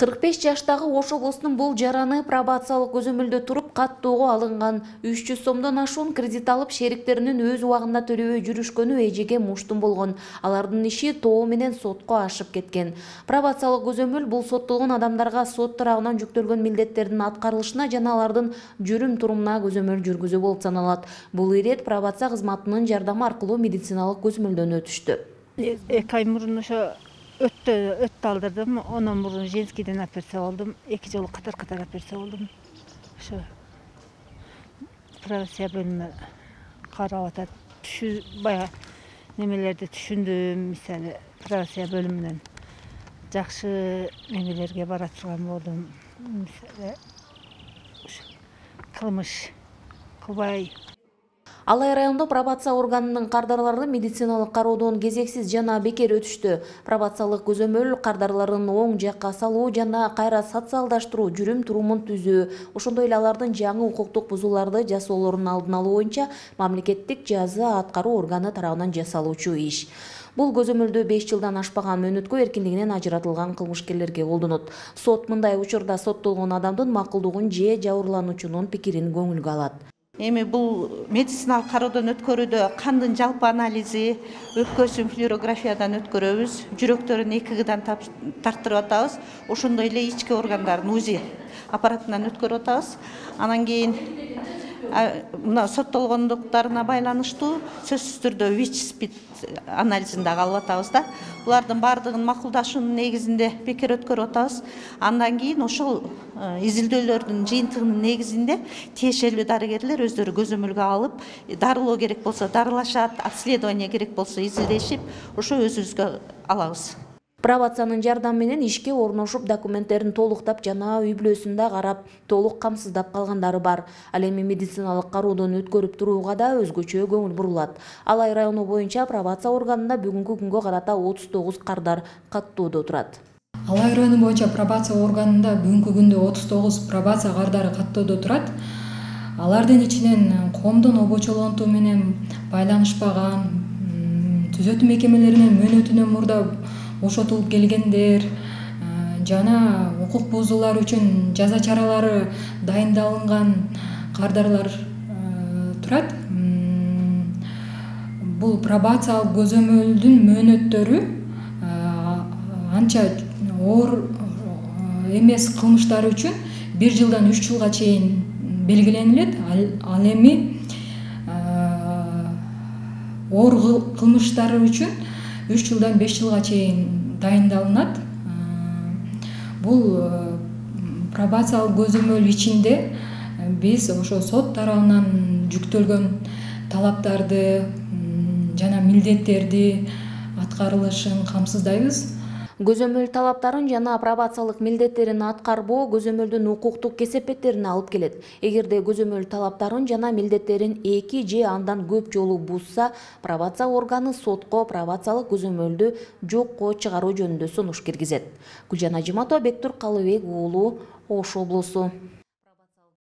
45 жаштагы Ош облусунун бул жараны пробациялык көзөмөлдө туруп каттоого алынган 300 сомдон ашуун кредит алып шериктеринин өз убагында төлөбөй жүрүшкөнү эжеге муштум болгон. Алардын иши тоо менен сотко ашып кеткен. Пробациялык көзөмөл бул соттолгон адамдарга сот тарабынан жүктөлгөн милдеттердин аткарылышына жана алардын жүрүм турумуна көзөмөл жүргүзүү болуп саналат. Бул ирет пробация кызматынын жардамы аркылуу медициналык көзөмөлдөн өтүштү. 2 ай мурун ошо өттө алдырдым, ондан мурун женскийден операция болдум, 2 жолу катар операция болдум. Ошо пробация бөлүмү карап атат. Бая немелерди түшүндүм, мисалы пробация бөлүмүнөн жакшы немелерге бара турган болдум. Мисалы кылмыш кылбай. Алай райондо пробация органынын кардарлары медициналык кароодон кезексиз жана бекер өтүштү. Пробациялык көзөмөл кардарларын оң жакка салуу жана кайра социалдаштыруу, жүрүм турумун түзүү, ошондой эле алардын жаңы укуктук бузууларды жасоолорунун алдын алуу боюнча мамлекеттик жаза аткаруу органы тарабынан жасалуучу иш. Бул көзөмөлдө 5 жылдан ашпаган мөөнөткө эркиндигинен ажыратылган кылмышкерлерге колдонот. Сот мындай учурда соттолгон адамдын макулдугун же жабырлануучунун пикирин көңүлгө алат. Эми бул медициналык кароодон өткөрүүдө кандын жалпы анализи, өпкөсүн флюорографиядан өткөрөбүз, жүрөктөрүн ЭКГдан тарттырып атабыз, ошондой эле ички органдарын УЗИ аппаратынан өткөрүп атабыз. Анан кийин мына соттолгондуктарына байланыштуу сөзсүз түрдө ВИЧ-СПИД анализин дагы алып атабыз да. Булардын баардыгын макулдашуунун негизинде бекер өткөрүп атабыз. Андан кийин ошол изилдөөлөрдүн жыйынтыгынын негизинде тиешелүү дарыгерлер өздөрү көзөмөлгө алып, дарылоо керек болсо дарылашат, обследование керек болсо изилдешип, ошо өзүбүзгө алабыз. Пробациянын жардамы менен ишке орношуп документтерин толуктап жана үй бүлөсүндө карап, толук камсыздап калгандары бар. Ал эми медициналык кароодон өткөрүп турууга да өзгөчө көңүл бурулат. Алай району боюнча пробация органында бүгүнкү күнгө карата 39 кардар каттоодо турат. Алай району боюнча пробация органында бүгүнкү күндө 39 пробация кардары каттоодо турат. Алардын ичинен коомдун обочолонтуу менен байланышпаган, түзөтүү мекемелеринин мөөнөтүнөн мурда бошотулуп келгендер жана укук бузуулар үчүн жаза чаралары дайындалынган кардарлар турат. Бул пробациялык көзөмөлдүн мөөнөттөрү анча оор эмес кылмыштар үчүн 1 жылдан 3 жылга чейин белгиленилет. Ал эми оор кылмыштар үчүн 3 жылдан 5 жылга чейин дайындалынат. Бул пробациялык көзөмөл ичинде биз ошо сот тарабынан жүктөлгөн талаптарды жана милдеттерди аткарылышын камсыздайбыз. Көзөмөл талаптарын жана пробациялык милдеттерин аткарбоо көзөмөлдүн укуктук кесепеттерине алып келет. Эгерде көзөмөл талаптарын жана милдеттерин 2 же андан көп жолу бузса, пробация органы сотко пробациялык көзөмөлдү жокко чыгаруу жөнүндө сунуш киргизет. Гүлжан Ажиматова, Бектур Калыбек уулу, Ош облусу.